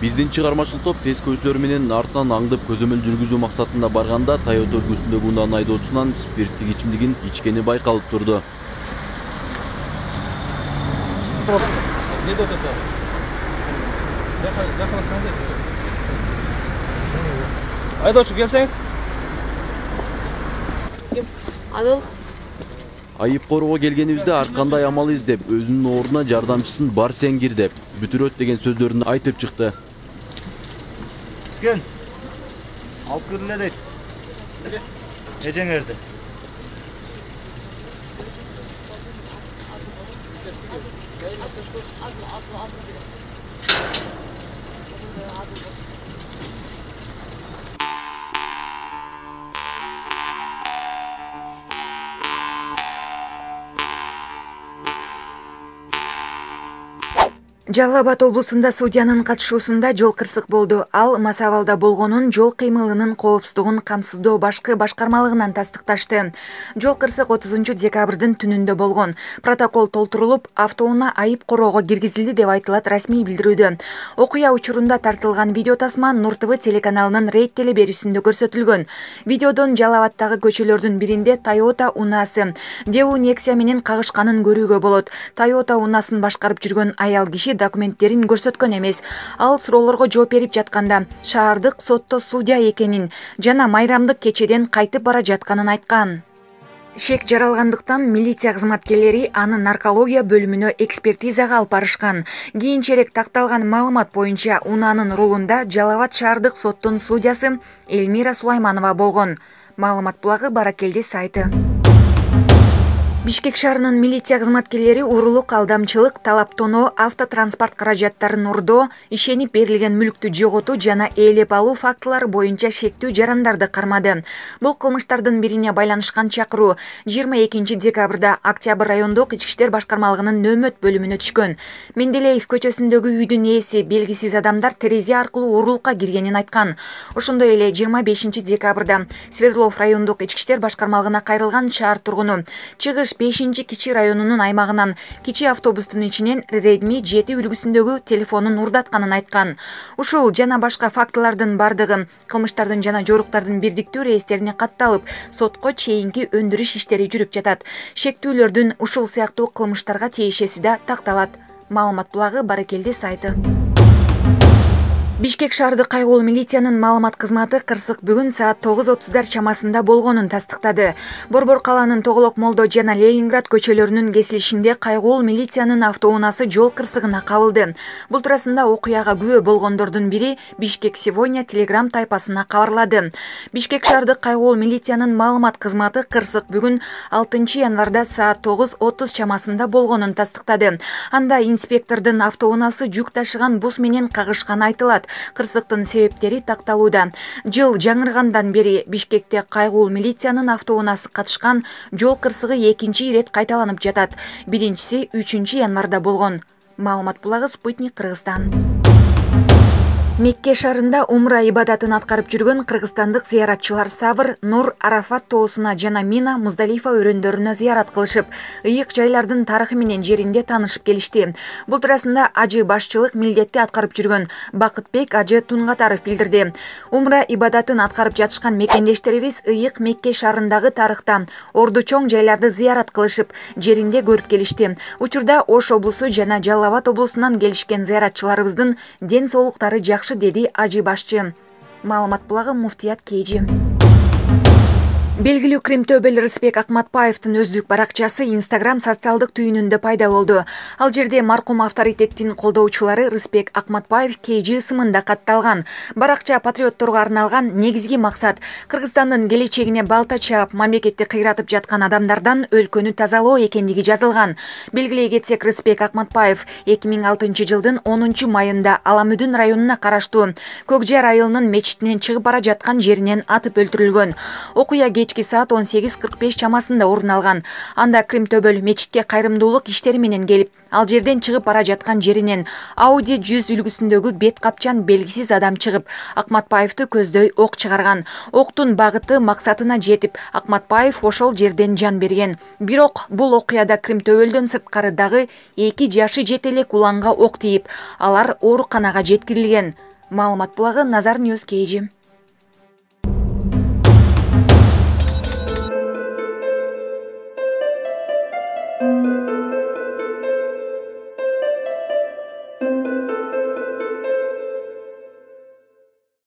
Биздин чыгармачыл топ тез көчүлөр менен артынан аңдып көзөмөл жүргүзүү максатында барганда Toyota үлгүсүндөгү унаанын айдоочусунан спирттик ичимдигин ичкени байкалып турду. Айдоочу келсеңиз. Адыл. Айып короо келгенибизде ар кандай амал издеп, өзүнүн ордуна жардамчысын бар сен кир деп, бүтүрөт деген сөздөрүн айтып чыкты. Скен. Алып кирле дейт. Эжеңерди. Жалал Абад облусунда судьянын катышуусунда жол кырсык болду. Ал мас абалда болгонун жол кыймылынын коопсуздугун камсыздоо башкы башкармалыгынан тастыкташты. Жол кырсык 30-декабрдын түнүндө болгон. Протокол толтурулуп, автоунаа айып короого киргизилди деп айтылат расмий билдирүүдө. Окуя учурунда тартылган видео тасма Нур ТВ телеканалынын рейд теле берүүсүндө көрсөтүлгөн. Видеодон Жалал Абадтагы көчөлөрдүн биринде Toyota унаасы Daewoo Nexia менен кагышканын көрүүгө болот. Toyota унаасын башкарып жүргөн аял киши документтерин көрсөткөн эмес. Ал суроолорго жооп берип жатканда шаардык сотто судья экенин жана майрамдык кечеден кайтып бара жатканын айткан. Шек жаралгандыктан милиция кызматкерлери аны наркология бөлүмүнө экспертизага алып барышкан. Кийинчерээк такталган маалымат боюнча унаанын рулунда Жалал Абад шаардык соттун судьясы Элмира Сулайманова болгон. Маалымат булагы Баракелди сайты. Бишкек шаарынын милиция кызматкерлери урулук, алдамчылык, талаптоноо, автотранспорт каражаттарын урдоо, ишенип берилген мүлктү жоготуу жана ээлеп алуу фактылары боюнча шектүү жарандарды кармады. Бул кылмыштардын бирине байланышкан чакыруу 22 декабрда Октябрь райондук ички иштер башкармалыгынын нөөмөт бөлүмүнө түшкөн. Менделеев көчөсүндөгү үйдүн ээси белгисиз адамдар терезе аркылуу урулукка киргенин айткан. Ошондой эле 25 декабрда Свердлов райондук ички иштер башкармалыгына кайрылган шаар тургуну чыгыш 5-Кичи районунун аймагынан кичи автобустун ичинен Redmi 7 үлгүсүндөгү телефонун урдатканын айткан. Ушул жана башка фактылардын бардыгы кылмыштардын жана жоруктардын бирдиктүү реестерине катталып, сотко чейинки өндүрүш иштери жүрүп жатат. Шектүүлөрдүн ушул сыяктуу кылмыштарга тиешеси да такталат. Маалымат булагы Баракелди сайты. Бишкек шаардык кайгуул милициянын маалымат кызматы кырсык бүгүн саат 9:30 чамасында болгонун тастыктады. Борбор калаанын Тоголок Молдо жана Ленинград көчөлөрүнүн кесилишинде кайгуул милициянын автоунаасы жол кырсыгына кабылды. Бул туурасында окуяга күбө болгондордун бири Бишкек сегодня Telegram тайпасына кабарлады. Бишкек шаардык кайгуул милициянын маалымат кызматы кырсык бүгүн 6 январда саат 9:30 чамасында болгонун тастыктады. Анда инспектордун автоунаасы жүк ташыган бус менен кагышканы айтылат. Кырсыктын себептери такталууда. Жыл жаңыргандан бери Бишкекте кайгуул милициянын автоунаасы катышкан жол кырсыгы экинчи ирет кайталанып жатат. Биринчиси 3 январда болгон. Маалымат булагы Спутник Кыргызстан. Мекке шаарында умра ибадатын аткарып жүргөн кыргызстандык зыяратчылар Савр, Нур, Арафат тоосуна жана Мина, Муздалифа өрөндөрүнө зыярат кылышып, ыйык жайлардын тарыхы менен жеринде таанышып келишти. Бул туурасында ажы башчылык милдетти аткарып жүргөн Бакытбек ажы Тунгатаров билдирди. Умра ибадатын аткарып жатышкан мекендештерибиз ыйык Мекке шаарындагы тарыхта орду чоң жайларды зыярат кылышып, жеринде көрүп келишти. Учурда Ош облусу жана Жалал Абад облусунан келишкен зыяратчыларыбыздын ден соолуктары жакшы, деди ажы башчы. Маалымат булагы Муфтият Кейжи. Белгилүү Кримтөбөл Рыспек Акматбаевдин өздүк баракчасы Instagram социалдык түйүнүндө пайда болду. Ал жерде маркум авторитеттин колдоочулары Рыспек Акматбаев KG ысымында катталган. Баракча патриотторго арналган, негизги максат Кыргызстандын келечегине балта чаап, мамлекетти кыйратып жаткан адамдардан өлкөнү тазалоо экендиги жазылган. Белгилей кетсек, Рыспек Акматбаев 2006 жылдын 10 майында Аламүдүн районуна караштуу Көкжар айылынын мечитинен чыгып бара жаткан жеринен атып өлтүрүлгөн. Окуя кечки саат 18:45 чамасында орун алган. Анда Кримтөбөл мечитке кайрымдуулук иштери менен келип, ал жерден чыгып бара жаткан жеринен Audi 100 үлгүсүндөгү бет капчан белгисиз адам чыгып, Акматбаевди көздөй ок чыгарган. Октун багыты максатына жетип, Акматбаев ошол жерден жан берген. Бирок бул окуяда Кримтөбөлдөн сырткары дагы 2 жашы жете элек уланга ок тийип, алар ооруканага жеткирилген. Маалымат булагы Назар Ньюс KG.